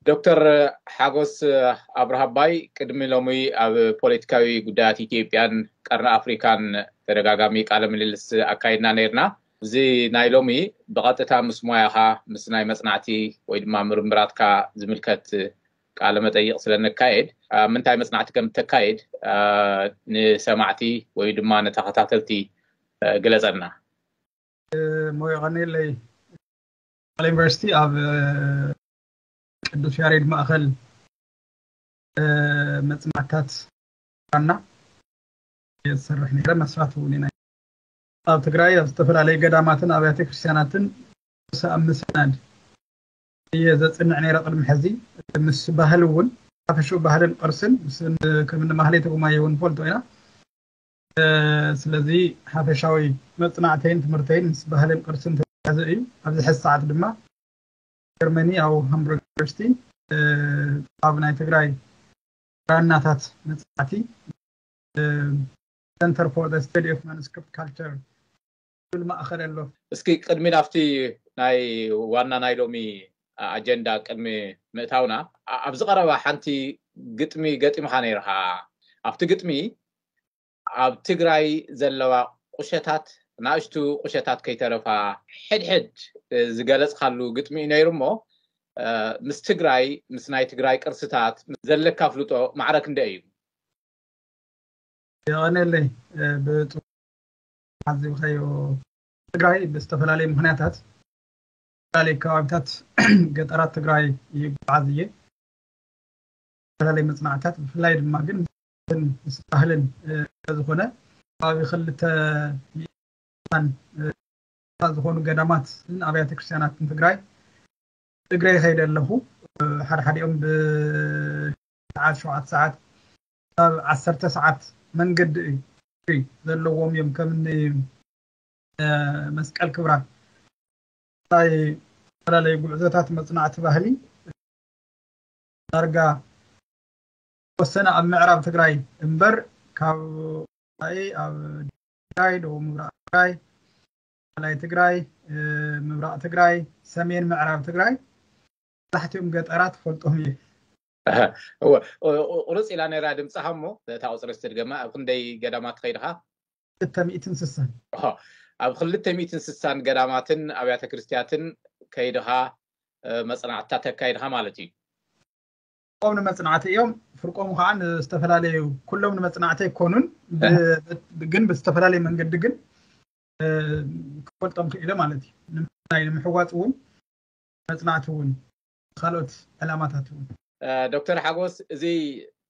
ዶክተር ሓጎስ ኣብርሃባይ፣ ቅድሚ ሎሚ ኣብ ፖለቲካዊ ጉዳያት ኢትዮጵያን ቀርኒ ኣፍሪካን ተደጋጋሚ ቃለ ምልልስ ኣካይድና ነይርና። እዚ ናይ ሎሚ ብቐጥታ ምስ ሞያኻ፣ ምስ ናይ መጽናዕቲ ወይ ድማ ምርምራትካ ዝምልከት ቃለ መጠይቕ ስለ ነካየድ፣ ምንታይ መጽናዕቲ ከም እተካየድ ንሰማዕቲ ወይ ድማ ንተኸታተልቲ ግለጸልና። ሞዮ ቀኒለይ፣ ዩኒቨርሲቲ ኣብ ቅዱስ ያሬድ ማእኸል መፅናዕታት ና ዝሰርሕ ነረ። መስራት እውን ኢና ኣብ ትግራይ ኣብ ዝተፈላለዩ ገዳማትን ኣብያተ ክርስቲያናትን ሰኣብ ምስናድ እየ ዘፅንዕ ነረ። ቅድሚ ሕዚ ምስ ባህል እውን ሓፈሽኡ ባህልን ቅርስን ከም ማህሌተ ጉማየ እውን ንፈልጦ ኢና። ስለዚ ሓፈሻዊ መፅናዕተይን ትምህርተይን ምስ ባህልን ቅርስን ተያዘ እዩ። ኣብዚ ሕዚ ሰዓት ድማ ጀርመኒ ኣብ ሃምቡርግ ዩኒቨርሲቲ ኣብ ናይ ትግራይ ራናታት መፅናዕቲ Center for the Study of Manuscript Culture ዝብል ማእኸል ኣሎ። እስኪ ቅድሚ ናብቲ ናይ ዋና ናይ ሎሚ ኣጀንዳ ቅድሚ ምእታውና፣ ኣብዚ ቀረባ ሓንቲ ግጥሚ ገጢምኻ ነይርኻ። ኣብቲ ግጥሚ ኣብ ትግራይ ዘለዋ ቁሸታት፣ ናእሽቱ ቁሸታት ከይተረፋ ሕድሕድ ዝገለፅካሉ ግጥሚ እዩ ነይሩ። እሞ ምስ ትግራይ፣ ምስ ናይ ትግራይ ቅርስታት ዘለካ ፍልጦ ማዕረ ክንደይ እዩ? የቐነለይ ብጡ ሓዚብካዮ። ትግራይ ብዝተፈላለዩ ምክንያታት ዝተፈላለዩ ከባቢታት ገጠራት ትግራይ ይጓዓዝ እየ። ዝተፈላለዩ መፅናዕታት ብፍላይ ድማ ግን ምስ ባህልን ስለዝኾነ ከባቢ ክልተ ሚእታን ዝኾኑ ገዳማት ኣብያተ ክርስቲያናትን ትግራይ እግረ ይኸይደ ኣለኹ። ሓደ ሓዲኦም ብሰዓት ሸውዓተ ሰዓት ካብ ዓሰርተ ሰዓት መንገዲ እዩ ዘለዎም እዮም። ከምኒ መስቀል ክብራ ናይ ዝተፈላለዩ ጉዕዞታት መፅናዕቲ ባህሊ ዳርጋ ወሰነ ኣብ ምዕራብ ትግራይ እምበር ካብ ኣብ ትግራይ፣ ደቡብ ምብራቕ ትግራይ፣ ማእከላይ ትግራይ፣ ምብራቕ ትግራይ፣ ሰሜን ምዕራብ ትግራይ መብዛሕትኦም ገጠራት ፈልጦም እየ። ቁርፅ ኢላ ነይራ ድምፅኻ። እሞ እታ ቁፅሪ ስትድገማ ኣብ ክንደይ ገዳማት ትኸይድኻ? ክልተ ሚእትን ስሳን ኣብ ክልተ ሚእትን ስሳን ገዳማትን ኣብያተ ክርስቲያትን ከይድኻ መፅናዕትታት ተካይድኻ ማለት እዩ። ፍርቆም ንመፅናዕቲ እዮም። ፍርቆም ከዓ ዝተፈላለዩ፣ ኩሎም ንመፅናዕቲ ኣይኮኑን፣ ግን ብዝተፈላለየ መንገዲ ግን ክፈልጦም ክኢለ ማለት እዩ። ንምሕዋፅ እውን መፅናዕቲ እውን ካልኦት ዕላማታት እውን። ዶክተር ሓጎስ፣ እዚ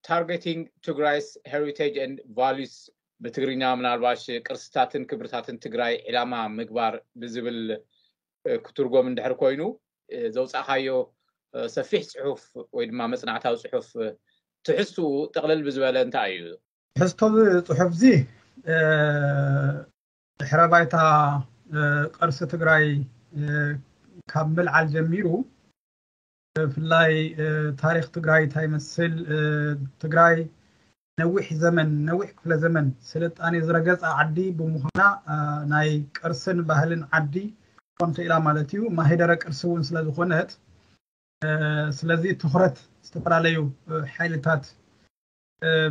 Targeting Tigray's Heritage and Values፣ ብትግርኛ ምናልባሽ ቅርስታትን ክብርታትን ትግራይ ዕላማ ምግባር ብዝብል ክትርጎም እንድሕር ኮይኑ፣ ዘውፃእካዮ ሰፊሕ ፅሑፍ ወይ ድማ መፅናዕታዊ ፅሑፍ ትሕዝትኡ ጥቕልል ብዝበለ እንታይ እዩ? ትሕዝቶ ፅሑፍ እዚ ድሕረ ባይታ ቅርሲ ትግራይ ካብ ምልዓል ጀሚሩ ብፍላይ ታሪክ ትግራይ እንታይ ይመስል፣ ትግራይ ነዊሕ ዘመን፣ ነዊሕ ክፍለ ዘመን ስልጣኔ ዝረገፃ ዓዲ ብምዃና ናይ ቅርስን ባህልን ዓዲ ኮን ክኢላ ማለት እዩ። ማህደረ ቅርሲ እውን ስለዝኾነት ስለዚ ትኩረት ዝተፈላለዩ ሓይልታት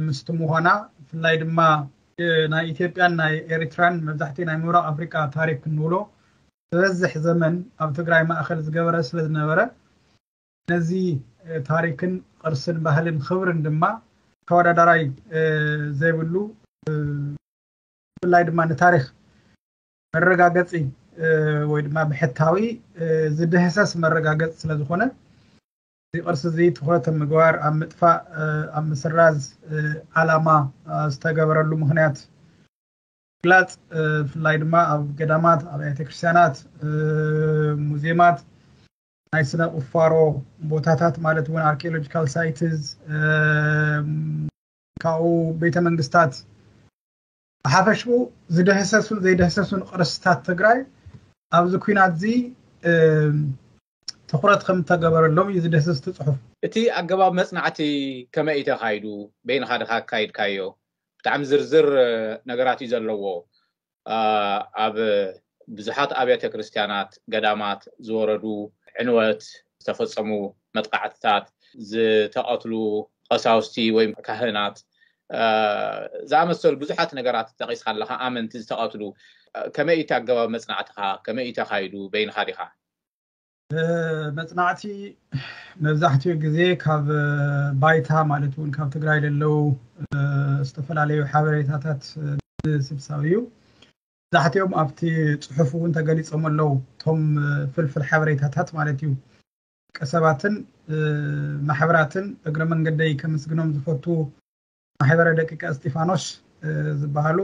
ምስቲ ምዃና ብፍላይ ድማ ናይ ኢትዮጵያን ናይ ኤሪትራን መብዛሕትኡ ናይ ምብራቕ ኣፍሪቃ ታሪክ ክንብሎ ዝበዝሕ ዘመን ኣብ ትግራይ ማእኸል ዝገበረ ስለ ዝነበረ ነዚ ታሪክን ቅርስን ባህልን ክብርን ድማ ተወዳዳራይ ዘይብሉ ብፍላይ ድማ ንታሪክ መረጋገፂ ወይ ድማ ብሕታዊ ዝድህሰስ መረጋገፂ ስለዝኾነ እዚ ቅርሲ እዚ ትኩረት ኣብ ምግባር ኣብ ምጥፋእ ኣብ ምስራዝ ዓላማ ዝተገበረሉ ምክንያት ግላፅ ብፍላይ ድማ ኣብ ገዳማት ኣብያተ ክርስቲያናት ሙዚየማት ናይ ስነ ቁፋሮ ቦታታት ማለት እውን archaeological sites ካብኡ ቤተ መንግስታት ብሓፈሽኡ ዝደህሰሱን ዘይደህሰሱን ቅርስታት ትግራይ ኣብዚ ኩናት እዚ ትኩረት ከም ተገበረሎም እዩ ዝደህሰስ እቲ ፅሑፍ። እቲ ኣገባብ መፅናዕቲ ከመይ እዩ ተኻይዱ? በይንኻ ድኻ ኣካይድካዮ? ብጣዕሚ ዝርዝር ነገራት እዩ ዘለዎ። ኣብ ብዙሓት ኣብያተ ክርስቲያናት፣ ገዳማት ዝወረዱ ዕንወት፣ ዝተፈፀሙ መጥቃዕትታት፣ ዝተቐትሉ ቀሳውስቲ ወይ ካህናት ዝኣመሰሉ ብዙሓት ነገራት ጠቒስካ ኣለካ። ኣመንቲ ዝተቐትሉ ከመይ እቲ ኣገባብ መፅናዕትኻ ከመይ እዩ ተኻይዱ? በይንኻ ዲኻ? መፅናዕቲ መብዛሕትኡ ግዜ ካብ ባይታ ማለት እውን ካብ ትግራይ ለለው ዝተፈላለዩ ሓበሬታታት ስብሳብ እዩ። መብዛሕትኦም ኣብቲ ፅሑፍ እውን ተገሊፆም ኣለዉ። እቶም ፍልፍል ሓበሬታታት ማለት እዩ። ቀሰባትን ማሕበራትን እግረ መንገደይ ከመስግኖም ዝፈቱ ማሕበረ ደቂቀ እስጢፋኖስ ዝበሃሉ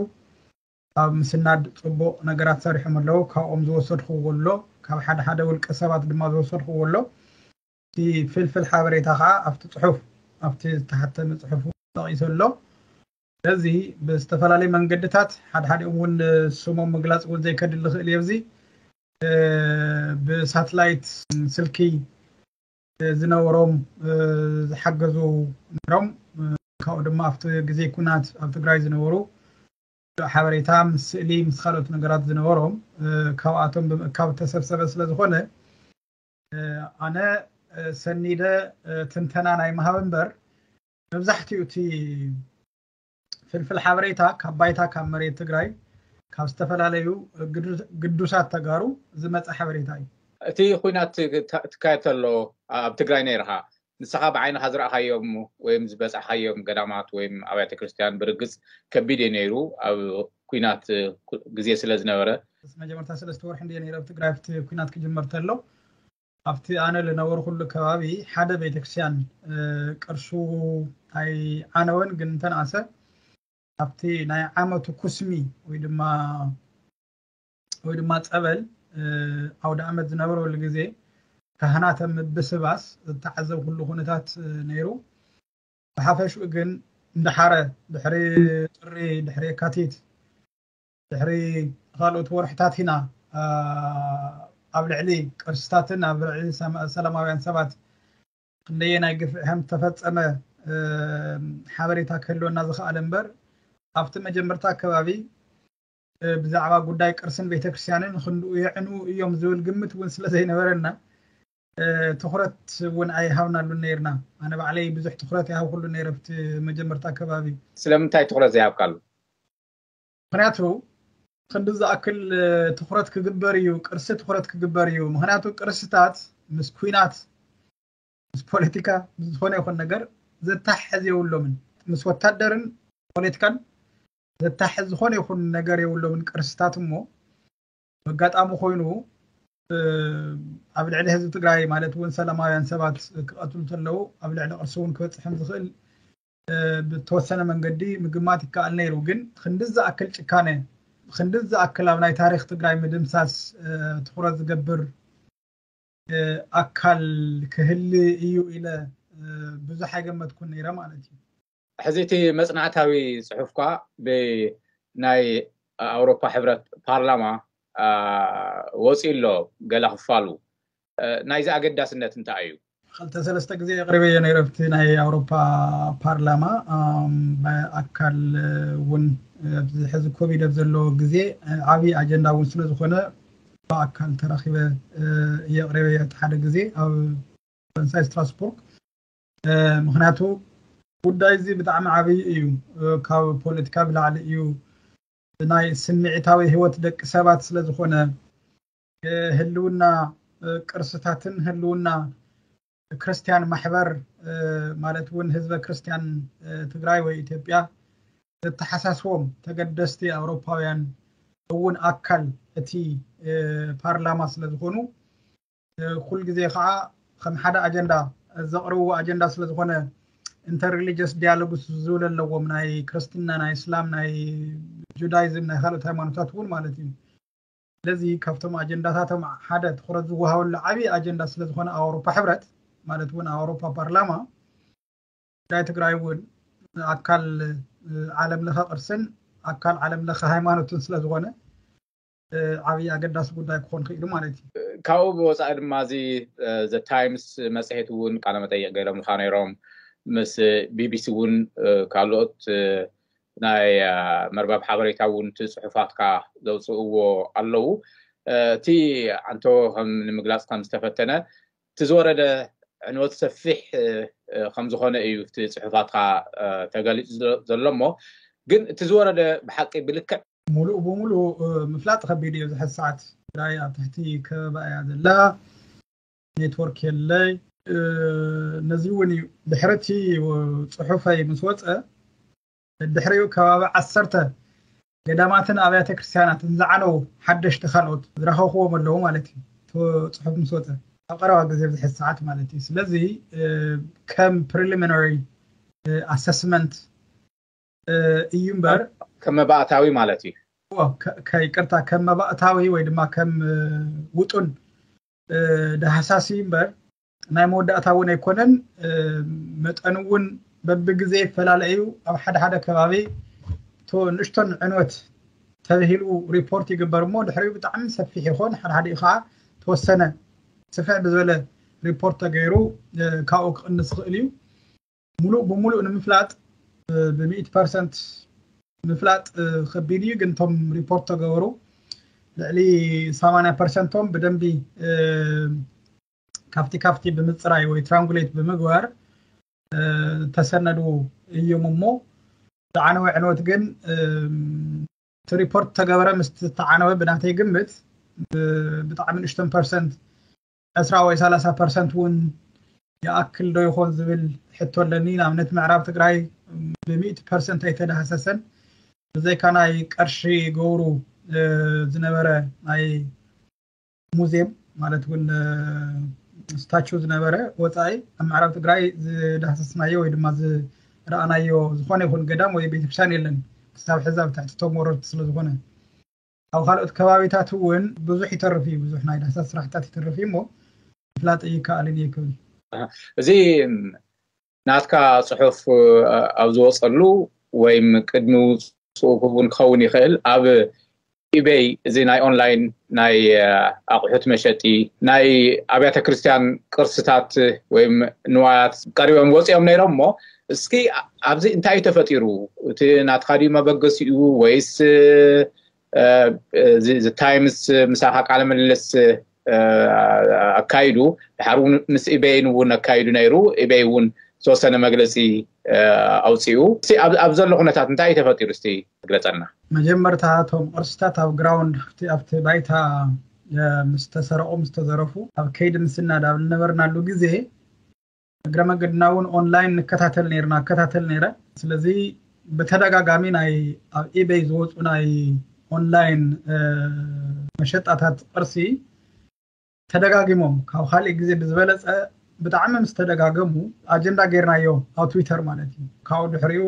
ኣብ ምስናድ ፅቡቕ ነገራት ሰሪሖም ኣለዉ። ካብኦም ዝወሰድክዎ ኣሎ፣ ካብ ሓደ ሓደ ውልቀ ሰባት ድማ ዝወሰድክዎ ኣሎ። እቲ ፍልፍል ሓበሬታ ከዓ ኣብቲ ፅሑፍ ኣብቲ ዝተሓተመ ፅሑፍ ጠቒሱ ኣሎ። ስለዚ ብዝተፈላለዩ መንገድታት ሓድሓዲኦም እውን ስሞም ምግላፅ እውን ዘይከድል ዝኽእል እየ። እዚ ብሳትላይት ስልኪ ዝነበሮም ዝሓገዙ ነሮም ካብኡ ድማ ኣብቲ ግዜ ኩናት ኣብ ትግራይ ዝነበሩ ሓበሬታ ምስ ስእሊ ምስ ካልኦት ነገራት ዝነበሮም ካብኣቶም ብምእካብ ተሰብሰበ ስለዝኾነ ኣነ ሰኒደ ትንተና ናይ ምሃብ እምበር መብዛሕትኡ እቲ ፍልፍል ሓበሬታ ካብ ባይታ ካብ መሬት ትግራይ ካብ ዝተፈላለዩ ግዱሳት ተጋሩ ዝመፀ ሓበሬታ እዩ። እቲ ኩናት ትካየድ ተሎ ኣብ ትግራይ ነይርካ ንስኻ ብዓይንኻ ዝረእኻዮም ወይም ዝበፃሕካዮም ገዳማት ወይም ኣብያተ ክርስትያን ብርግፅ ከቢድ እዩ ነይሩ ኣብ ኩናት ግዜ ስለ ዝነበረ። መጀመርታ ሰለስተ ወርሒ እንድየ ነይረ ኣብ ትግራይ ኣብቲ ኩናት ክጅመር ተሎ ኣብቲ ኣነ ዝነበርኩሉ ከባቢ ሓደ ቤተክርስትያን ቅርሱ ኣይዓነወን፣ ግን እንተንኣሰ ኣብቲ ናይ ዓመቱ ኩስሚ ወይ ድማ ወይ ድማ ፀበል ኣውደ ዓመት ዝነበረሉ ግዜ ካህናተ ምብስባስ ዝተዓዘብኩሉ ኩነታት ነይሩ። ብሓፈሽኡ ግን እንዳሓረ ድሕሪ ጥሪ ድሕሪ የካቲት ድሕሪ ካልኦት ወርሕታት ኢና ኣብ ልዕሊ ቅርስታትን ኣብ ልዕሊ ሰላማውያን ሰባት ክንደየናይ ግፍዒ ከም ዝተፈፀመ ሓበሬታ ክህልወና ዝኽኣለ እምበር ኣብቲ መጀመርታ ኣከባቢ ብዛዕባ ጉዳይ ቅርስን ቤተክርስትያንን ክንድኡ የዕንኡ እዮም ዝብል ግምት እውን ስለ ዘይነበረና ትኹረት እውን ኣይሃብናሉን ነይርና። ኣነ ባዕለይ ብዙሕ ትኹረት ይሃብኩሉ ነይረ ኣብቲ መጀመርታ ኣከባቢ። ስለምንታይ ትኹረት ዘይሃብካሉ? ምክንያቱ ክንዲ ዝኣክል ትኩረት ክግበር እዩ፣ ቅርሲ ትኩረት ክግበር እዩ። ምክንያቱ ቅርስታት ምስ ኩናት፣ ምስ ፖለቲካ፣ ምስ ዝኾነ ይኹን ነገር ዘተሓሕዝ የብሎምን። ምስ ወታደርን ፖለቲካን ዘተሓሕዝ ዝኾነ ይኹን ነገር የብሎምን ቅርስታት። እሞ ኣጋጣሚ ኮይኑ ኣብ ልዕሊ ህዝቢ ትግራይ ማለት እውን ሰላማውያን ሰባት ክቐትሉ ተለዉ ኣብ ልዕሊ ቅርሲ እውን ክበፅሕም ዝኽእል ብተወሰነ መንገዲ ምግማት ይከኣል ነይሩ። ግን ክንዲ ዝኣክል ጭካነ፣ ክንዲ ዝኣክል ኣብ ናይ ታሪክ ትግራይ ምድምሳስ ትኩረት ዝገብር ኣካል ክህሊ እዩ ኢለ ብዙሕ ኣይገመትኩን ነይረ ማለት እዩ። ሕዚ እቲ መፅናዕታዊ ፅሑፍኳ ብናይ ኣውሮፓ ሕብረት ፓርላማ ወፂኡ ኣሎ ገለ ክፋሉ። ናይዚ ኣገዳስነት እንታይ እዩ? ክልተ ሰለስተ ግዜ የቕርበዮ ነይረ ኣብቲ ናይ ኣውሮፓ ፓርላማ። ብኣካል እውን ኣብዚ ሕዚ ኮቪድ ኣብ ዘለዎ ግዜ ዓብዪ ኣጀንዳ እውን ስለዝኾነ ብኣካል ተራኺበ የቕርበዮ እቲ ሓደ ግዜ ኣብ ፈረንሳይ ስትራስቡርግ። ምክንያቱ ጉዳይ እዚ ብጣዕሚ ዓብዪ እዩ። ካብ ፖለቲካ ብላዕሊ እዩ። ናይ ስምዒታዊ ህይወት ደቂ ሰባት ስለዝኾነ ህልውና ቅርስታትን ህልውና ክርስትያን ማሕበር ማለት እውን ህዝበ ክርስትያን ትግራይ ወይ ኢትዮጵያ ዘተሓሳስቦም ተገደስቲ ኣውሮፓውያን እውን ኣካል እቲ ፓርላማ ስለዝኾኑ ኩል ግዜ ከዓ ከም ሓደ ኣጀንዳ ዘቕርብዎ ኣጀንዳ ስለዝኾነ interreligious dialogues ዝብል ኣለዎም ናይ ክርስትና ናይ እስላም ናይ ጁዳይዝም ናይ ካልኦት ሃይማኖታት እውን ማለት እዩ። ስለዚ ካብቶም ኣጀንዳታቶም ሓደ ትኩረት ዝወሃበሉ ዓብዪ ኣጀንዳ ስለዝኾነ ኣውሮፓ ሕብረት ማለት እውን ኣውሮፓ ፓርላማ ጉዳይ ትግራይ እውን ኣካል ዓለም ለኸ ቅርስን ኣካል ዓለም ለኸ ሃይማኖትን ስለዝኾነ ዓብዪ ኣገዳሲ ጉዳይ ክኾን ክኢሉ ማለት እዩ። ካብኡ ብወፃኢ ድማ እዚ ዘ ታይምስ መፅሄት እውን ቃለ መጠይቅ ገይሮምልካ ነይሮም። ምስ ቢቢሲ እውን ካልኦት ናይ መርበብ ሓበሬታ እውን እቲ ፅሑፋትካ ዘውፅእዎ ኣለዉ። እቲ ኣንቶ ከም ንምግላፅ ከም ዝተፈተነ እቲ ዝወረደ ዕንወት ሰፊሕ ከም ዝኾነ እዩ እቲ ፅሑፋትካ ተገሊፁ ዘሎ። እሞ ግን እቲ ዝወረደ ብሓቂ ብልክዕ ሙሉእ ብሙሉእ ምፍላጥ ከቢድ እዩ። ዝሕዚ ሰዓት ትግራይ ኣብ ትሕቲ ከበባ እያ ዘላ። ኔትወርክ የለይ። ነዚ እውን እዩ ድሕርቲ ፅሑፈይ ምስ ወፀ ድሕሪኡ ከባቢ ዓሰርተ ገዳማትን ኣብያተ ክርስቲያናትን ዝዓነው ሓደሽቲ ካልኦት ዝረኸብክዎም ኣለዉ ማለት እዩ። እቲ ፅሑፍ ምስ ወፀ ኣብ ቀረባ ግዜ ኣብዚ ሕዚ ሰዓት ማለት እዩ። ስለዚ ከም ፕሪሊሚናሪ ኣሰስመንት እዩ እምበር ከም መባእታዊ ማለት እዩ። ይቅርታ፣ ከም መባእታዊ ወይ ድማ ከም ውጡን ዳህሳሲ እምበር ናይ መወዳእታ እውን ኣይኮነን። መጠኑ እውን በብግዜ ይፈላለ እዩ። ኣብ ሓደ ሓደ ከባቢ ንእሽቶን ዕንወት ተብሂሉ ሪፖርት ይግበር እሞ ድሕሪኡ ብጣዕሚ ሰፊሕ ይኾን፣ ሓደ ሓደ ከዓ ተወሰነ ስፍሕ ብዝበለ ሪፖርት ተገይሩ ካብኡ ክቕንስ ይኽእል እዩ። ሙሉእ ብሙሉእ ንምፍላጥ ብሚእቲ ፐርሰንት ምፍላጥ ከቢድ እዩ። ግን እቶም ሪፖርት ተገበሩ ልዕሊ ሰማንያ ፐርሰንቶም ብደንቢ ካብቲ ካብቲ ብምፅራይ ወይ ትራንጉሌት ብምግባር ተሰነዱ እዮም እሞ ዝዓነወ ዕንወት ግን እቲ ሪፖርት ተገበረ ምስ ተዓነወ ብናተይ ግምት ብጣዕሚ ንእሽተን ፐርሰንት ዕስራ ወይ ሰላሳ ፐርሰንት እውን ይኣክል ዶ ይኾን ዝብል ሕቶ ኣለኒ። ንኣብነት ምዕራብ ትግራይ ብሚእቲ ፐርሰንት ኣይተዳህሰሰን። ብዘይካ ናይ ቀርሺ ገብሩ ዝነበረ ናይ ሙዚየም ማለት እውን ስታቹ ዝነበረ ወፃኢ ኣብ ምዕራብ ትግራይ ዝዳህሰስናዮ ወይ ድማ ዝረኣናዮ ዝኾነ ይኹን ገዳም ወይ ቤተክርስትያን የለን። ክሳብ ሕዚ ኣብ ትሕቲ ቶም ወረርቲ ስለዝኾነ ኣብ ካልኦት ከባቢታት እውን ብዙሕ ይተርፍ እዩ። ብዙሕ ናይ ዳህሳስ ስራሕታት ይተርፍ እዩ እሞ ምፍላጥ ይከኣልን እየ ክብል። እዚ ናትካ ፅሑፍ ኣብ ዝወፀሉ ወይም ቅድሚ ውፅኡ እውን ክኸውን ይኽእል ኣብ ኢቤይ እዚ ናይ ኦንላይን ናይ ኣቑሑት መሸጢ ናይ ኣብያተ ክርስቲያን ቅርስታት ወይም ንዋያት ቀሪቦም ወፂኦም ነይሮም እሞ እስኪ ኣብዚ እንታይ እዩ ተፈጢሩ? እቲ ናትካ ድዩ መበገሲኡ ወይስ እዚ ታይምስ ምሳኻ ቃለ ምልልስ ኣካይዱ ድሓር እውን ምስ ኢቤይን እውን ኣካይዱ ነይሩ። ኢቤይ እውን ዝተወሰነ መግለፂ ኣውፅኡ። ኣብ ዘሎ ኩነታት እንታይ እዩ ተፈጢሩ እስቲ ግለፀልና። መጀመርታ እቶም ቅርስታት ኣብ ግራውንድ ኣብቲ ባይታ ምስ ተሰረቑ ምስ ተዘረፉ ኣብ ከይዲ ምስናድ ኣብ ዝነበርናሉ ግዜ እግረ መገድና እውን ኦንላይን ንከታተል ነርና እከታተል ነረ። ስለዚ ብተደጋጋሚ ናይ ኣብ ኢቤይ ዝወፁ ናይ ኦንላይን መሸጣታት ቅርሲ ተደጋጊሞም ካብ ካልእ ግዜ ብዝበለፀ ብጣዕሚ ምስ ተደጋገሙ ኣጀንዳ ጌርናዮ ኣብ ትዊተር ማለት እዩ። ካብኡ ድሕሪኡ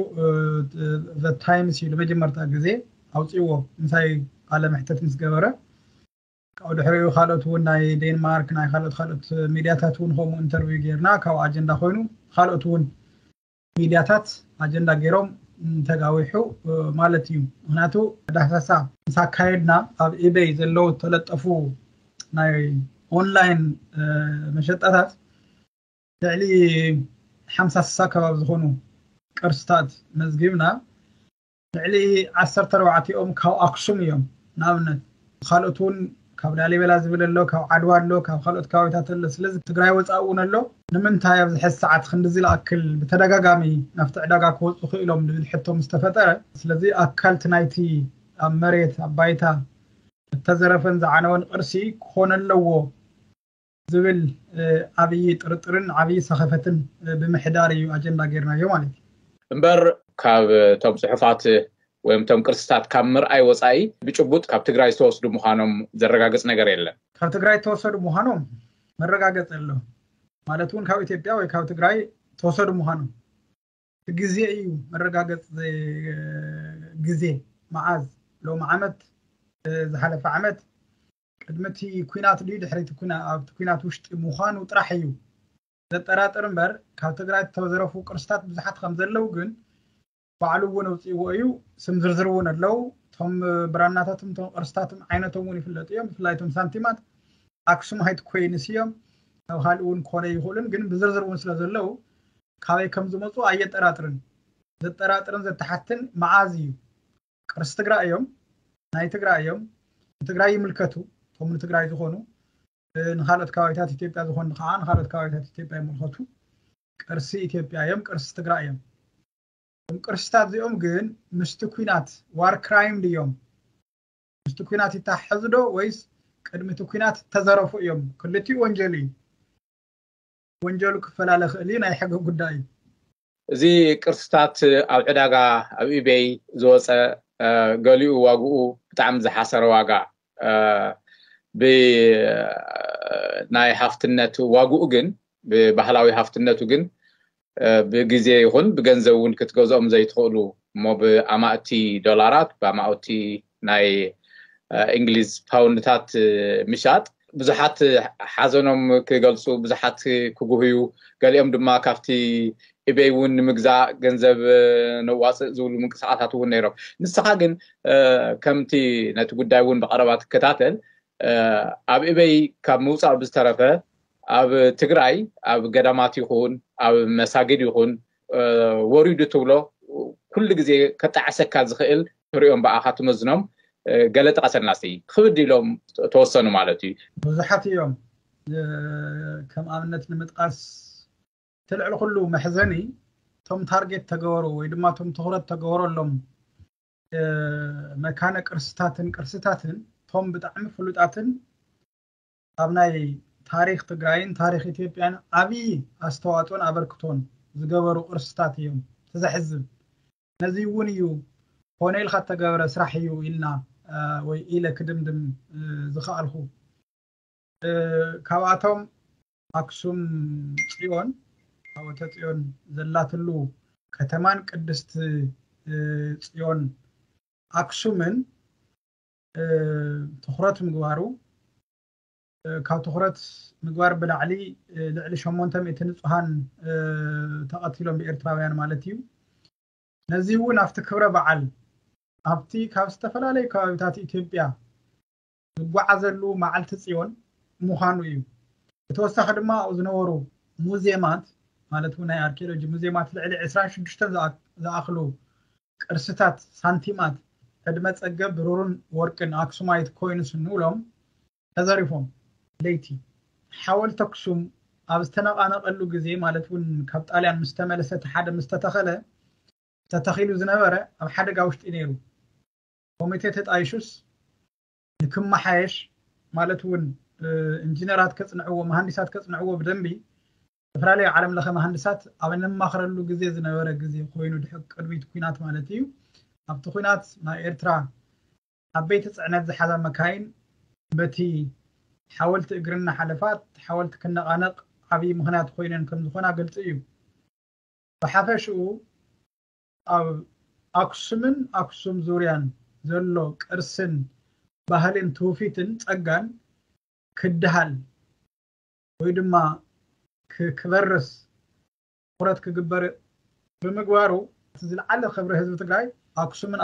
ታይምስ እዩ ንመጀመርታ ግዜ ኣውፅዎ ምሳይ ቃለ መሕተት ምስ ገበረ ካብኡ ድሕሪኡ ካልኦት እውን ናይ ዴንማርክ ናይ ካልኦት ካልኦት ሚድያታት እውን ከምኡ ኢንተርቪው ጌርና ካብኡ ኣጀንዳ ኮይኑ ካልኦት እውን ሚድያታት ኣጀንዳ ገይሮም ተጋዊሑ ማለት እዩ። ምክንያቱ ዳህሳሳ ምስ ኣካየድና ኣብ ኢቤይ ዘለዉ ተለጠፉ ናይ ኦንላይን መሸጣታት ልዕሊ ሓምሳ ስሳ ከባቢ ዝኾኑ ቅርስታት መዝጊብና ልዕሊ ዓሰርተ ኣርባዕቲኦም ካብ ኣክሱም እዮም። ንኣብነት ካልኦት እውን ካብ ላሊበላ ዝብል ኣሎ፣ ካብ ዓድዋ ኣሎ፣ ካብ ካልኦት ከባቢታት ኣሎ። ስለዚ ትግራይ ወፃኢ እውን ኣሎ። ንምንታይ ኣብዚ ሕዚ ሰዓት ክንድዚ ዝኣክል ብተደጋጋሚ ናብቲ ዕዳጋ ክወፁ ክኢሎም ዝብል ሕቶ ምስ ተፈጠረ፣ ስለዚ ኣካልቲ ናይቲ ኣብ መሬት ኣብ ባይታ እተዘረፈን ዝዓነወን ቅርሲ ክኾነ ኣለዎ ዝብል ዓብዪ ጥርጥርን ዓብዪ ሰኸፈትን ብምሕዳር እዩ ኣጀንዳ ጌርናዮ ማለት እዩ። እምበር ካብ እቶም ፅሑፋት ወይም እቶም ቅርስታት ካብ ምርኣይ ወፃኢ ብጭቡጥ ካብ ትግራይ ዝተወስዱ ምዃኖም ዘረጋግፅ ነገር የለን። ካብ ትግራይ ዝተወሰዱ ምዃኖም መረጋገፂ ኣሎ ማለት እውን ካብ ኢትዮጵያ ወይ ካብ ትግራይ ተወሰዱ ምዃኖም ግዜ እዩ መረጋገፂ ግዜ መዓዝ ሎም ዓመት ዝሓለፈ ዓመት ቅድሚ እቲ ኩናት ድዩ ድሕሪ እቲ ኩና ኣብቲ ኩናት ውሽጢ ምዃኑ ጥራሕ እዩ ዘጠራጥር እምበር ካብ ትግራይ ዝተዘረፉ ቅርስታት ብዙሓት ከም ዘለዉ ግን ባዕሉ እውን ኣውፅእዎ እዩ። ስም ዝርዝር እውን ኣለዉ። እቶም ብራናታትን እቶም ቅርስታትን ዓይነቶም እውን ይፍለጡ እዮም። ብፍላይ እቶም ሳንቲማት ኣክሱማይት ኮይንስ እዮም። ካብ ካልእ እውን ክኾነ ይኽእሉን ግን ብዝርዝር እውን ስለ ዘለዉ ካበይ ከም ዝመፁ ኣየጠራጥርን። ዘጠራጥርን ዘተሓትን መዓዝ እዩ ቅርሲ ትግራይ እዮም፣ ናይ ትግራይ እዮም፣ ንትግራይ ይምልከቱ፣ እቶም ንትግራይ ዝኾኑ ንኻልኦት ከባቢታት ኢትዮጵያ ዝኾኑ ከዓ ንኻልኦት ከባቢታት ኢትዮጵያ ይምልከቱ። ቅርሲ ኢትዮጵያ እዮም፣ ቅርሲ ትግራይ እዮም። እም ቅርስታት እዚኦም ግን ምስቲ ኩናት ዋር ክራይም ድዮም? ምስቲ ኩናት ይተሓሕዙ ዶ ወይስ ቅድሚ እቲ ኩናት ተዘረፉ እዮም? ክልቲኡ ወንጀል እዩ። ወንጀሉ ክፈላለ ክእል እዩ፣ ናይ ሕጊ ጉዳይ እዩ። እዚ ቅርስታት ኣብ ዕዳጋ ኣብ ኢቤይ ዝወፀ ገሊኡ ዋግኡ ብጣዕሚ ዝሓሰረ ዋጋ ብ ናይ ሃፍትነት ዋግኡ ግን ብባህላዊ ሃፍትነቱ ግን ብግዜ ይኹን ብገንዘብ እውን ክትገዝኦም ዘይትኽእሉ እሞ ብኣማእቲ ዶላራት ብኣማእቲ ናይ እንግሊዝ ፓውንድታት ምሻጥ ብዙሓት ሓዘኖም ክገልፁ ብዙሓት ክጉህዩ ገሊኦም ድማ ካብቲ ኢቤይ እውን ንምግዛእ ገንዘብ ነዋፅእ ዝብሉ ምንቅስቃሳት እውን ነይሮም። ንስኻ ግን ከምቲ ነቲ ጉዳይ እውን ብቀረባ ትከታተል ኣብ ኢቤይ ካብ ምውፃእ ብዝተረፈ ኣብ ትግራይ ኣብ ገዳማት ይኹን ኣብ መሳጊድ ይኹን ወሪዱ ትብሎ ኩሉ ግዜ ከጣዕሰካ ዝኽእል ትሪኦም ብኣኻ ትመዝኖም ገለ ጥቀሰልና እስቲ። ክብድ ኢሎም ተወሰኑ ማለት እዩ። ብዙሓት እዮም። ከም ኣብነት ንምጥቃስ እቲ ልዕሊ ኩሉ መሕዘኒ እቶም ታርጌት ተገበሩ ወይ ድማ እቶም ትኹረት ተገበረሎም መካነ ቅርስታትን ቅርስታትን እቶም ብጣዕሚ ፍሉጣትን ኣብ ናይ ታሪክ ትግራይን ታሪክ ኢትዮጵያን ዓብዪ ኣስተዋፅኦን ኣበርክቶን ዝገበሩ ቅርስታት እዮም። ተዘሕዝብ ነዚ እውን እዩ ኮነ ኢልካ እተገበረ ስራሕ እዩ ኢልና ወይ ኢለ ክድምድም ዝኸኣልኩ። ካብኣቶም ኣክሱም ፅዮን ታቦተ ፅዮን ዘላትሉ ከተማን ቅድስቲ ፅዮን ኣክሱምን ትኹረት ምግባሩ ካብ ትኹረት ምግባር ብላዕሊ ልዕሊ ሸሞንተ ሚእቲ ንፁሃን ተቐቲሎም ብኤርትራውያን ማለት እዩ። ነዚ እውን ኣብቲ ክብረ በዓል ኣብቲ ካብ ዝተፈላለዩ ከባቢታት ኢትዮጵያ ዝጓዓዘሉ መዓልቲ ፅዮን ምዃኑ እዩ። ብተወሳኺ ድማ ኣብኡ ዝነበሩ ሙዜማት ማለት እውን ናይ ኣርኪኦሎጂ ሙዜማት ልዕሊ ዕስራን ሽዱሽተን ዝኣክሉ ቅርስታት ሳንቲማት ዕድመ ፀገብ ብሩርን ወርቅን ኣክሱማይት ኮይንስ እንብሎም ተዘሪፎም ለይቲ ሓወልቲ ኣክሱም ኣብ ዝተነቓነቐሉ ግዜ ማለት እውን ካብ ጣልያን ምስ ተመለሰ እቲ ሓደ ምስ ተተኸለ ተተኺሉ ዝነበረ ኣብ ሓደጋ ውሽጢ ነይሩ። ኮሚቴ ተጣይሹስ ንክመሓየሽ ማለት እውን ኢንጂነራት ከፅንዕዎ መሃንዲሳት ከፅንዕዎ ብደንቢ ዝተፈላለዩ ዓለም ለኸ መሃንድሳት ኣብ እንማኽረሉ ግዜ ዝነበረ ግዜ ኮይኑ ድሕሪ ቅድሚት ኩናት ማለት እዩ። ኣብቲ ኩናት ናይ ኤርትራ ዓበይቲ ፅዕነት ዝሓዛ መካይን በቲ ሓወልቲ እግሪ እናሓለፋ ሓወልቲ ክነቓነቕ ዓብዪ ምኽንያት ኮይነን ከምዝኾና ግልፂ እዩ። ብሓፈሽኡ ኣብ ኣክሱምን ኣክሱም ዙርያን ዘሎ ቅርስን ባህልን ትውፊትን ፀጋን ክድሃል ወይ ድማ ክበርስ ትኹረት ክግበር ብምግባሩ እቲ ዝለዓለ ክብሪ ህዝቢ ትግራይ ኣክሱምን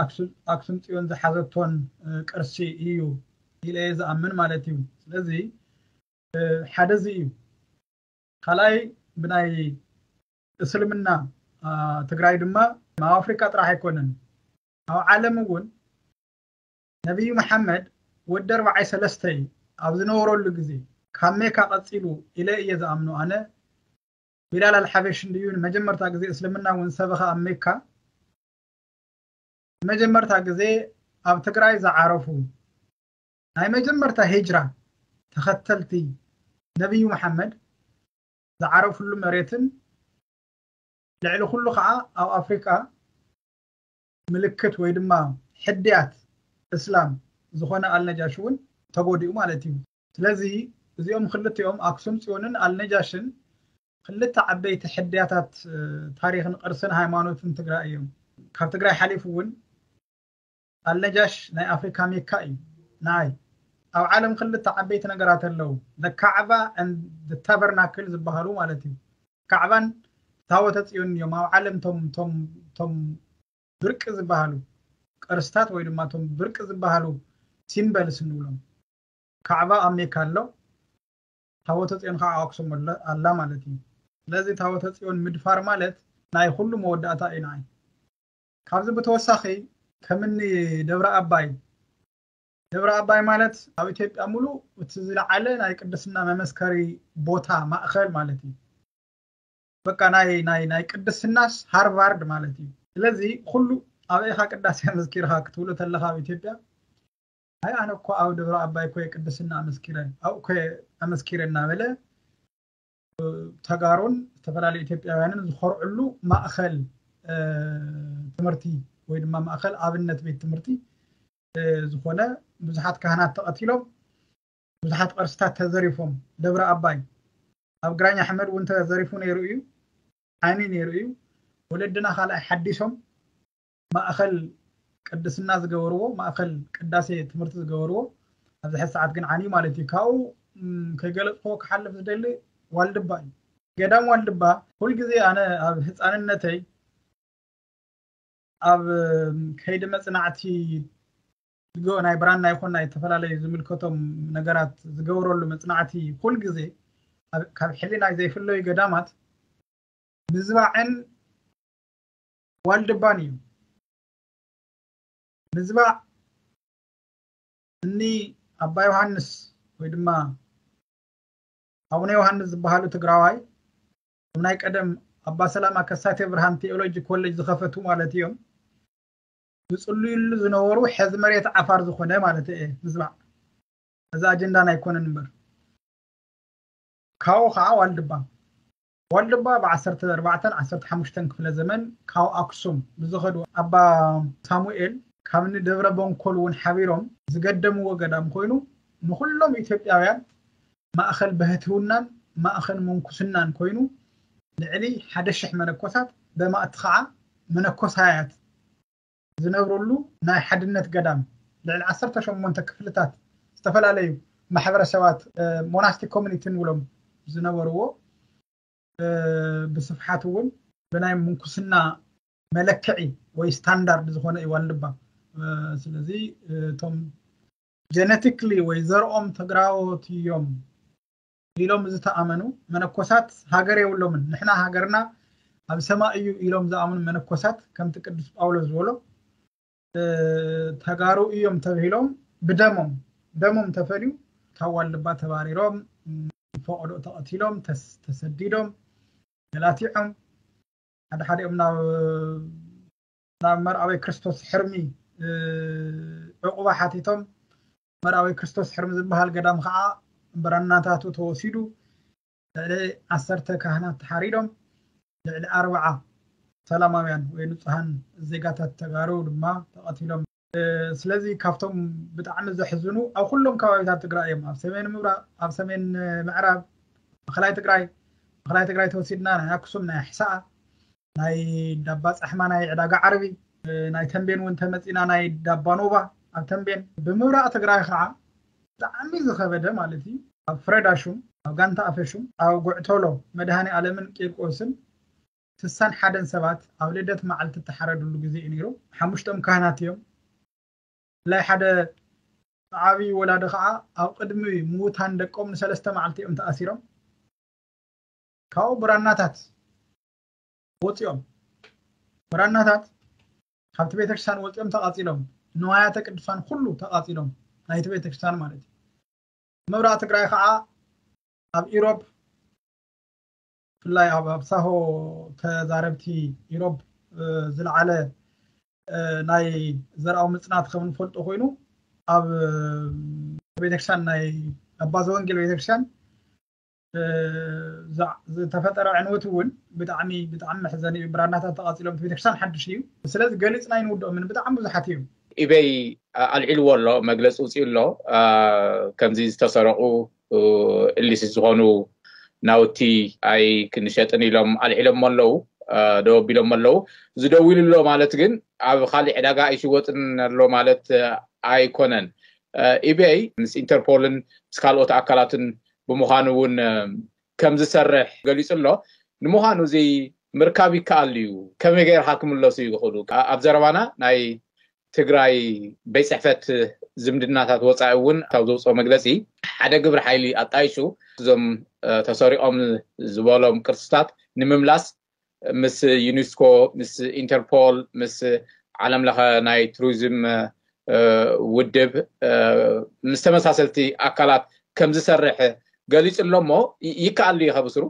ኣክሱም ፅዮን ዝሓዘቶን ቅርሲ እዩ ኢለ እየ ዝኣምን ማለት እዩ። ስለዚ ሓደ እዚ እዩ። ካልኣይ ብናይ እስልምና ትግራይ ድማ ኣብ ኣፍሪካ ጥራሕ ኣይኮነን ኣብ ዓለም እውን ነቢዩ መሓመድ ወዲ ኣርባዓይ ሰለስተ እዩ ኣብ ዝነበረሉ ግዜ ካብ ሜካ ቀፂሉ ኢለ እየ ዝኣምኖ ኣነ። ቢላል ኣልሓበሽ እንድዩ ንመጀመርታ ግዜ እስልምና እውን ሰበኸ ኣብ ሜካ ንመጀመርታ ግዜ ኣብ ትግራይ ዝዓረፉ ናይ መጀመርታ ሂጅራ ተኸተልቲ ነቢዩ መሓመድ ዝዓረፉሉ መሬትን ልዕሊ ኩሉ ከዓ ኣብ ኣፍሪካ ምልክት ወይ ድማ ሕድያት እስላም ዝኾነ ኣልነጃሽ እውን ተጎዲኡ ማለት እዩ። ስለዚ እዚኦም ክልቲኦም ኣክሱም ፅዮንን ኣልነጃሽን ክልተ ዓበይቲ ሕድያታት ታሪክን ቅርስን ሃይማኖትን ትግራይ እዮም። ካብ ትግራይ ሓሊፉ እውን ኣልነጃሽ ናይ ኣፍሪካ ሜካ እዩ። ንዓይ ኣብ ዓለም ክልተ ዓበይቲ ነገራት ኣለዉ። ካዕባ ተበርናክል ዝበሃሉ ማለት እዩ። ካዕባን ታቦተ ፅዮን እዮም ኣብ ዓለም ቶም ብርቂ ዝበሃሉ ቅርስታት ወይ ድማ ቶም ብርቂ ዝበሃሉ ሲምበልስ እንብሎም። ካዕባ ኣብ ሜካ ኣሎ፣ ታቦተ ፅዮን ከዓ ኣክሱም ኣላ ማለት እዩ። ስለዚ ታቦተ ፅዮን ምድፋር ማለት ናይ ኩሉ መወዳእታ እዩ ንዓይ። ካብዚ ብተወሳኺ ከምኒ ደብረ ኣባይ ደብረ ኣባይ ማለት ኣብ ኢትዮጵያ ሙሉእ እቲ ዝለዓለ ናይ ቅድስና መመስከሪ ቦታ ማእኸል ማለት እዩ። በቃ ናይ ናይ ናይ ቅድስናስ ሃርቫርድ ማለት እዩ። ስለዚ ኩሉ ኣበይ ኢኻ ቅዳሴ ኣመስኪርካ ክትብሎ ተለኻ ኣብ ኢትዮጵያ፣ ኣይ ኣነ እኮ ኣብ ደብረ ኣባይ እኮ ቅድስና ኣመስኪረ፣ ኣብኡ እኮ ኣመስኪረ እናበለ ተጋሩን ዝተፈላለዩ ኢትዮጵያውያንን ዝኮርዕሉ ማእኸል ትምህርቲ ወይ ድማ ማእኸል ኣብነት ቤት ትምህርቲ ዝኾነ ብዙሓት ካህናት ተቐቲሎም፣ ብዙሓት ቅርስታት ተዘሪፎም። ደብረ ኣባይ ኣብ ግራኝ ኣሕመድ እውን ተዘሪፉ ነይሩ እዩ፣ ዓይኒ ነይሩ እዩ። ወለድና ካልኣይ ሓዲሶም ማእኸል ቅድስና ዝገበርዎ፣ ማእኸል ቅዳሴ ትምህርቲ ዝገበርዎ ኣብዚ ሕዚ ሰዓት ግን ዓንዩ ማለት እዩ። ካብኡ ከይገለፅክዎ ክሓልፍ ዝደሊ ዋልድባ እዩ። ገዳም ዋልድባ ኩልግዜ ኣነ ኣብ ህፃንነተይ ኣብ ከይዲ መፅናዕቲ ናይ ብራና ይኹን ናይ ዝተፈላለዩ ዝምልከቶም ነገራት ዝገብረሉ መፅናዕቲ ኩልግዜ ካብ ሕሊናይ ዘይፍለዩ ገዳማት ምዝባዕን ዋልድባን እዩ። ምዝባዕ እኒ ኣባ ዮሃንስ ወይ ድማ ኣቡነ ዮሃንስ ዝበሃሉ ትግራዋይ ናይ ቀደም ኣባ ሰላማ ከሳቴ ብርሃን ቴኦሎጂ ኮሌጅ ዝኸፈቱ ማለት እዮም። ዝፅልዩሉ ዝነበሩ ሕዚ መሬት ዓፋር ዝኾነ ማለት እየ። ምዝባዕ እዚ ኣጀንዳና ኣይኮነን እምበር ካብኡ ከዓ ዋልድባ ዋልድባ ብ ዓሰርተ ኣርባዕተን ዓሰርተ ሓሙሽተን ክፍለ ዘመን ካብ ኣክሱም ብዝኸዱ ኣባ ሳሙኤል ካብ ንደብረ በንኮል እውን ሓቢሮም ዝገደምዎ ገዳም ኮይኑ ንኩሎም ኢትዮጵያውያን ማእኸል ብህትውናን ማእኸል ምንኩስናን ኮይኑ ልዕሊ ሓደ ሽሕ መነኮሳት በማእቲ ከዓ መነኮሳያት ዝነብሩሉ ናይ ሓድነት ገዳም ልዕሊ ዓሰርተ ሸሞንተ ክፍልታት ዝተፈላለዩ ማሕበረሰባት ሞናስቲክ ኮሚኒቲ ንብሎም ዝነበርዎ ብስፍሓት እውን ብናይ ምንኩስና መለክዒ ወይ ስታንዳርድ ዝኾነ እዩ ዋልድባ። ስለዚ እቶም ጀነቲክሊ ወይ ዘርኦም ትግራዎት እዮም ኢሎም ዝተኣመኑ መነኮሳት ሃገር የብሎምን። ንሕና ሃገርና ኣብ ሰማይ እዩ ኢሎም ዝኣምኑ መነኮሳት ከምቲ ቅዱስ ጳውሎስ ዝበሎ ተጋሩ እዮም ተብሂሎም ብደሞም ደሞም ተፈልዩ ካብ ዋልድባ ተባሪሮም ፈቐዶ ተቐቲሎም ተሰዲዶም ገላቲዖም ሓደ ሓዲኦም ናብ ናብ መርኣዊ ክርስቶስ ሕርሚ ዕቑባ ሓቲቶም መርኣዊ ክርስቶስ ሕርሚ ዝበሃል ገዳም ከዓ ብራናታቱ ተወሲዱ ልዕሊ ዓሰርተ ካህናት ተሓሪዶም ልዕሊ ኣርብዓ ሰላማውያን ወይ ንፁሃን ዜጋታት ተጋሩ ድማ ተቐቲሎም። ስለዚ ካብቶም ብጣዕሚ ዘሕዝኑ ኣብ ኩሎም ከባቢታት ትግራይ እዮም። ኣብ ሰሜን ምብራቕ፣ ኣብ ሰሜን ምዕራብ፣ ማእኸላይ ትግራይ፣ ማእኸላይ ትግራይ ተወሲድና ናይ ኣክሱም፣ ናይ ኣሕሳኣ፣ ናይ ዳባ ፃሕማ፣ ናይ ዕዳጋ ዓርቢ፣ ናይ ተንቤን እውን ተመፂና ናይ ዳባ ኖባ ኣብ ተንቤን። ብምብራቕ ትግራይ ከዓ ብጣዕሚ ዝኸበደ ማለት እዩ። ኣብ ፍረዳ ሹም፣ ኣብ ጋንታ ኣፈ ሹም፣ ኣብ ጉዕቶሎ መድሃኔ ኣለምን ቂርቆስን ስሳን ሓደን ሰባት ኣብ ልደት መዓልቲ እተሓረድሉ ግዜ እዩ ነይሩ። ሓሙሽቶም ካህናት እዮም። ብላይ ሓደ ዓብዪ ወላዲ ከዓ ኣብ ቅድሚ ምዉታን ደቆም ንሰለስተ መዓልቲ እዮም ተኣሲሮም። ካብኡ ብራናታት ወፂኦም ብራናታት ካብቲ ቤተክርስትያን ወፂኦም ተቃፂሎም ንዋያተ ቅዱሳን ኩሉ ተቃፂሎም ናይቲ ቤተክርስትያን ማለት እዩ። ምብራቅ ትግራይ ከዓ ኣብ ኢሮብ ብፍላይ ኣብ ኣብ ሳሆ ተዛረብቲ ኢሮብ ዝለዓለ ናይ ዘርኣዊ ምፅናት ከም ንፈልጦ ኮይኑ ኣብ ቤተክርስትያን ናይ ኣባ ዘወንጌል ቤተክርስትያን ዝተፈጠረ ዕንወት እውን ብጣዕሚ ብጣዕሚ መሕዘኒ እዩ። ብራናታት ተቃፂሎም ቤተክርስትያን ሓድሽ እዩ። ስለዚ ገሊፅና ኣይንውድኦምን ብጣዕሚ ብዙሓት እዮም። ኢበይ ኣልዒልዎ ኣሎ መግለፂ ውፅኡ ኣሎ። ከምዚ ዝተሰረቁ እሊስ ዝኾኑ ናውቲ ኣይ ክንሸጥን ኢሎም ኣልዒሎሞ ኣለዉ። ደው ኣቢሎሞ ኣለዉ። ዝደው ኢሉ ኣሎ ማለት ግን ኣብ ካሊእ ዕዳጋ ኣይሽወጥን ኣሎ ማለት ኣይኮነን። ኢቤይ ምስ ኢንተርፖልን ምስ ካልኦት ኣካላትን ብምዃኑ እውን ከም ዝሰርሕ ገሊፁ ኣሎ። ንምዃኑ እዚ ምርካብ ይከኣል እዩ? ከመይ ገይርካ ክምለሱ ይኽእሉ? ኣብ ዘረባና ናይ ትግራይ ቤት ፅሕፈት ዝምድናታት ወፃኢ እውን ካብ ዘውፅኦ መግለፂ ሓደ ግብሪ ሓይሊ ኣጣይሹ እዞም ተሰሪቆም ዝበሎም ቅርስታት ንምምላስ ምስ ዩኒስኮ ምስ ኢንተርፖል ምስ ዓለም ለኸ ናይ ቱሪዝም ውድብ ምስ ተመሳሰልቲ ኣካላት ከም ዝሰርሕ ገሊጹ ኣሎ። እሞ ይከኣል እዩ ከብስሩ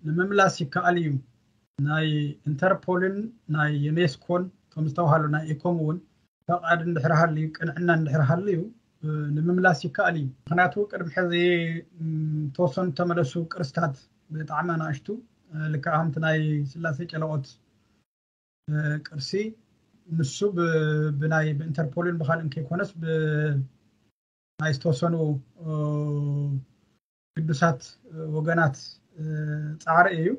ንምምላስ ይከኣል እዩ። ናይ ኢንተርፖልን ናይ ዩኔስኮን ከም ዝተባሃሉ ናይ ኢኮም እውን ፈቓድ እንድሕር ሃልዩ ቅንዕና እንድሕር ሃልዩ ንምምላስ ይከኣል እዩ። ምክንያቱ ቅድሚ ሕዚ ተወሰኑ ተመለሱ ቅርስታት ብጣዕሚ ኣናእሽቱ ልክዕ ከምቲ ናይ ስላሴ ጨለቆት ቅርሲ ንሱ ብናይ ብኢንተርፖልን ብካልእን ከይኮነስ ብናይ ዝተወሰኑ ግዱሳት ወገናት ፃዕሪ እዩ።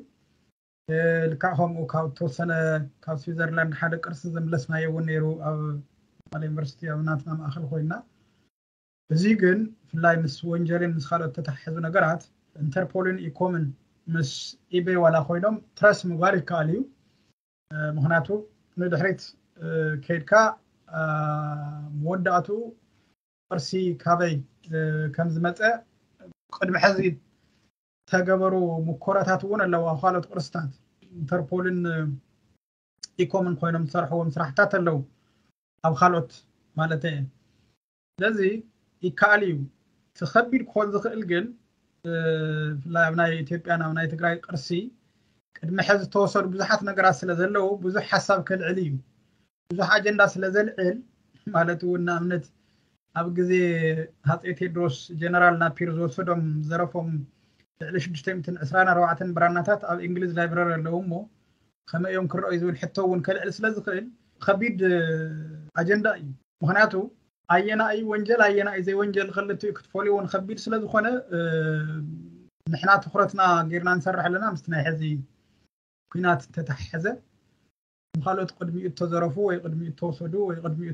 ልክዕ ከምኡ ካብ ተወሰነ ካብ ስዊዘርላንድ ሓደ ቅርሲ ዘምለስናዮ እውን ነይሩ ኣብ መቐለ ዩኒቨርሲቲ ኣብ ናትና ማእኸል ኮይና። እዚ ግን ብፍላይ ምስ ወንጀልን ምስ ካልኦት ተተሓሕዙ ነገራት ኢንተርፖልን ኢኮምን ምስ ኢቤይ ዋላ ኮይኖም ትረስ ምግባር ይከኣል እዩ። ምክንያቱ ንድሕሪት ከይድካ መወዳእቱ ቅርሲ ካበይ ከም ዝመፀ ቅድሚ ሕዚ ተገበሩ ሙኮራታት እውን ኣለዉ። ኣብ ካልኦት ቅርስታት ኢንተርፖልን ኢኮምን ኮይኖም ዝሰርሕዎም ስራሕታት ኣለዉ ኣብ ካልኦት ማለት እየ። ስለዚ ይከኣል እዩ። እቲ ከቢድ ክኾን ዝኽእል ግን ብፍላይ ኣብ ናይ ኢትዮጵያን ኣብ ናይ ትግራይ ቅርሲ ቅድሚ ሕዚ ዝተወሰዱ ብዙሓት ነገራት ስለ ዘለዉ ብዙሕ ሓሳብ ከልዕል እዩ። ብዙሕ ኣጀንዳ ስለ ዘልዕል ማለት እውን ንኣብነት ኣብ ግዜ ሃፀይ ቴድሮስ ጀነራል ናፒር ዝወሰዶም ዘረፎም ልዕሊ ሽዱሽተ ሚእትን ዕስራን ኣርባዕተን ብራናታት ኣብ እንግሊዝ ላይብረሪ ኣለዉ እሞ ከመይ እዮም ክረኣዩ ዝብል ሕቶ እውን ከልዕል ስለ ዝኽእል ከቢድ ኣጀንዳ እዩ። ምክንያቱ ኣየናይ ወንጀል ኣየናይ ዘይወንጀል ክልቲኡ ክትፈልዮ እውን ከቢድ ስለ ዝኾነ ንሕና ትኩረትና ጌርና ንሰርሕ ኣለና ምስቲ ናይ ሕዚ ኩናት ተተሓሐዘ ንካልኦት ቅድሚኡ እተዘረፉ ወይ ቅድሚኡ እተወሰዱ ወይ ቅድሚኡ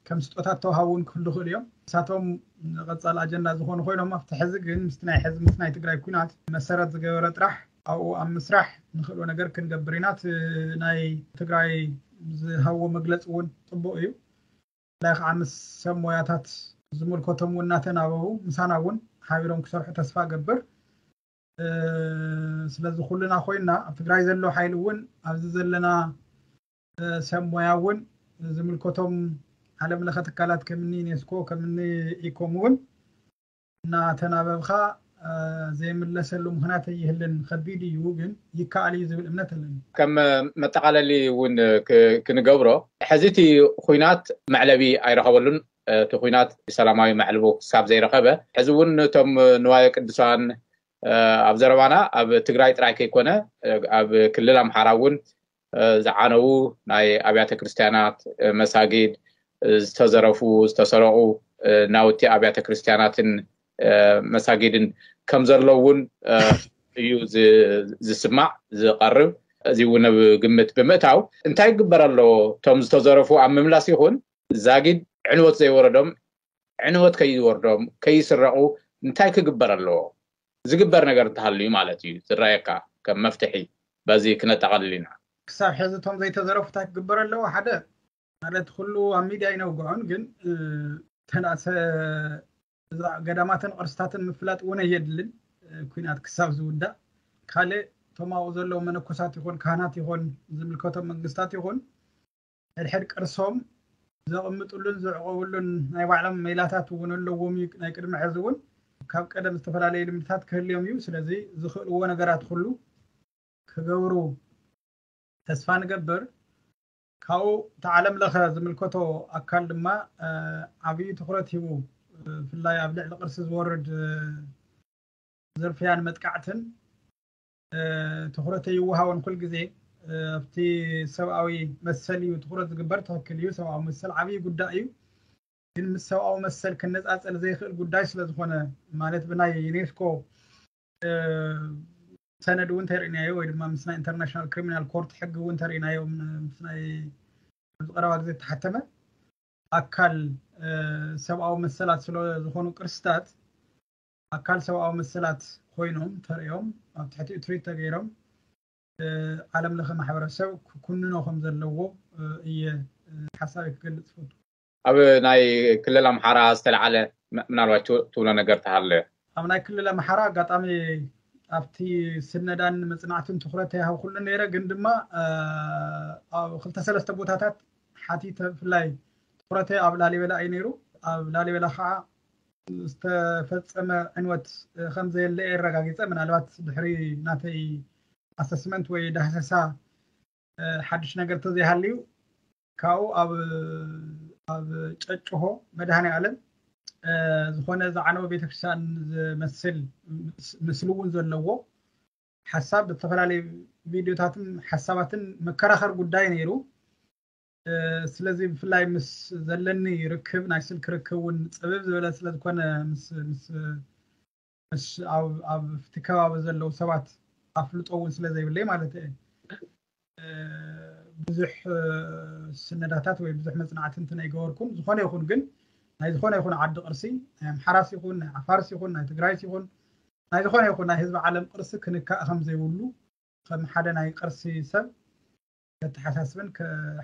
ከም ስጦታት ተዋሃቡ እውን ክህሉ ይኽእሉ እዮም። ንሳቶም ቀፃሊ ኣጀንዳ ዝኾኑ ኮይኖም ኣብቲ ሕዚ ግን ምስቲ ናይ ሕዚ ምስ ናይ ትግራይ ኩናት መሰረት ዝገበረ ጥራሕ ኣብኡ ኣብ ምስራሕ ንኽእሎ ነገር ክንገብር ኢና። እቲ ናይ ትግራይ ዝሃብዎ መግለፂ እውን ፅቡቅ እዩ። ብፍላይ ከዓ ምስ ሰብ ሞያታት ዝምልከቶም እውን እናተናበቡ ምሳና እውን ሓቢሮም ክሰርሑ ተስፋ እገብር። ስለዚ ኩልና ኮይና ኣብ ትግራይ ዘሎ ሓይሊ እውን ኣብዚ ዘለና ሰብ ሞያ እውን ዝምልከቶም ዓለም ለኸ ትካላት ከምኒ ዩኔስኮ ከምኒ ኢኮም እውን እናተናበብካ ዘይምለሰሉ ምክንያት ኣይህልን። ከቢድ እዩ ግን ይከኣል እዩ ዝብል እምነት ኣለኒ። ከም መጠቃለሊ እውን ክንገብሮ ሕዚ እቲ ኩናት መዕለቢ ኣይረኸበሉን። እቲ ኩናት ሰላማዊ መዕልቦ ክሳብ ዘይረኸበ ሕዚ እውን ነቶም ንዋየ ቅዱሳን ኣብ ዘረባና ኣብ ትግራይ ጥራይ ከይኮነ ኣብ ክልል ኣምሓራ እውን ዝዓነዉ ናይ ኣብያተ ክርስትያናት መሳጊድ ዝተዘረፉ ዝተሰረቑ ናውቲ ኣብያተ ክርስትያናትን መሳጊድን ከም ዘሎ እውን እዩ ዝስማዕ ዝቐርብ። እዚ እውን ኣብ ግምት ብምእታው እንታይ ክግበር ኣለዎ? እቶም ዝተዘረፉ ኣብ ምምላስ ይኹን ዛጊድ ዕንወት ዘይወረዶም ዕንወት ከይወርዶም ከይስረቑ እንታይ ክግበር ኣለዎ? ዝግበር ነገር እንተሃልዩ ማለት እዩ ዝረኣየካ ከም መፍትሒ በዚ ክነጠቓልል ኢና። ክሳብ ሕዚ እቶም ዘይተዘረፉ እንታይ ክግበር ኣለዎ? ሓደ ማለት ኩሉ ኣብ ሚድያ ይነውግዖን ግን ተናሰ ገዳማትን ቅርስታትን ምፍላጥ እውን ኣየድልን። ኩናት ክሳብ ዝውዳእ ካልእ እቶም ኣብኡ ዘለዉ መነኮሳት ይኹን ካህናት ይኹን ዝምልከቶም መንግስታት ይኹን ሕድሕድ ቅርሶም ዘቕምጥሉን ዝዕቆብሉን ናይ ባዕሎም ሜላታት እውን ኣለዎም እዩ። ናይ ቅድሚ ሕዚ እውን ካብ ቀደም ዝተፈላለዩ ልምድታት ክህልዮም እዩ። ስለዚ ዝኽእልዎ ነገራት ኩሉ ክገብሩ ተስፋ ንገብር። ካብኡ እቲ ዓለም ለኸ ዝምልከቶ ኣካል ድማ ዓብዪ ትኩረት ሂቡ ብፍላይ ኣብ ልዕሊ ቅርሲ ዝወርድ ዝርፍያን መጥቃዕትን ትኩረት ኣይወሃቦን። ኩል ግዜ ኣብቲ ሰብኣዊ መሰል እዩ ትኩረት ዝግበር። ትክክል እዩ፣ ሰብኣዊ መሰል ዓብዪ ጉዳይ እዩ። ግን ምስ ሰብኣዊ መሰል ክነፃፀል ዘይኽእል ጉዳይ ስለዝኾነ ማለት ብናይ ዩኔስኮ ሰነድ እውን ተርእናዮ ወይ ድማ ምስ ናይ ኢንተርናሽናል ክሪሚናል ኮርት ሕጊ እውን ተርእናዮ ምስ ናይ ኣብዚ ቀረባ ግዜ ዝተሓተመ ኣካል ሰብኣዊ መሰላት ስለ ዝኾኑ ቅርስታት ኣካል ሰብኣዊ መሰላት ኮይኖም ተርእዮም ኣብ ትሕቲ እትሪት ተገይሮም ዓለም ለኸ ማሕበረሰብ ክኩንኖ ከም ዘለዎ እየ ሓሳብ ክገልፅ ፈቱ። ኣብ ናይ ክልል ኣምሓራ ዝተለዓለ ምናልባት ትብሎ ነገር ተሃለ? ኣብ ናይ ክልል ኣምሓራ ኣጋጣሚ ኣብቲ ስነዳን መፅናዕትን ትኩረት ተይሃብኩሉ ነይረ፣ ግን ድማ ኣብ ክልተ ሰለስተ ቦታታት ሓቲተ ብፍላይ ትኩረተይ ኣብ ላሊበላ እዩ ነይሩ። ኣብ ላሊበላ ከዓ ዝተፈጸመ ዕንወት ከም ዘየለ የረጋጊጸ። ምናልባት ድሕሪ ናተይ ኣሰስመንት ወይ ዳህሰሳ ሓድሽ ነገር ተዘይሃልዩ ካብኡ ኣብ ኣብ ጨጭሆ መድሃኔ ዓለም ዝኾነ ዝዓነወ ቤተክርስትያን ዝመስል ምስሊ እውን ዘለዎ ሓሳብ ብዝተፈላለዩ ቪድዮታትን ሓሳባትን መከራኸር ጉዳይ ነይሩ። ስለዚ ብፍላይ ምስ ዘለኒ ርክብ ናይ ስልክ ርክብ እውን ፅብብ ዝበለ ስለዝኮነ ምስ ምስ ምስ ኣብ ኣብቲ ከባቢ ዘለዉ ሰባት ኣፍልጦ እውን ስለ ዘይብለይ ማለት እየ። ብዙሕ ስነዳታት ወይ ብዙሕ መፅናዕቲ እንትን ኣይገበርኩን። ዝኾነ ይኹን ግን ናይ ዝኾነ ይኹን ዓዲ ቅርሲ ናይ ኣምሓራስ ይኹን ናይ ዓፋርስ ይኹን ናይ ትግራይስ ይኹን ናይ ዝኾነ ይኹን ናይ ህዝቢ ዓለም ቅርሲ ክንካእ ከም ዘይብሉ ከም ሓደ ናይ ቅርሲ ሰብ ከተሓሳስብን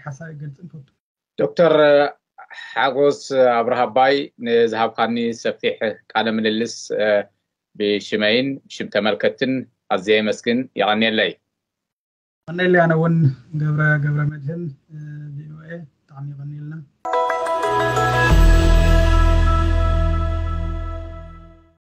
ሓሳብ ይገልፅን ፈቱ። ዶክተር ሓጎስ ኣብርሃባይ ንዝሃብካኒ ሰፊሕ ቃለ ምልልስ ብሽመይን ብሽም ተመልከትን ኣዝየ የመስግን። የቐንየለይ። ቀንየለይ። ኣነ እውን ገብረ ገብረ መድህን ቪኦኤ ብጣዕሚ የቐንየልና።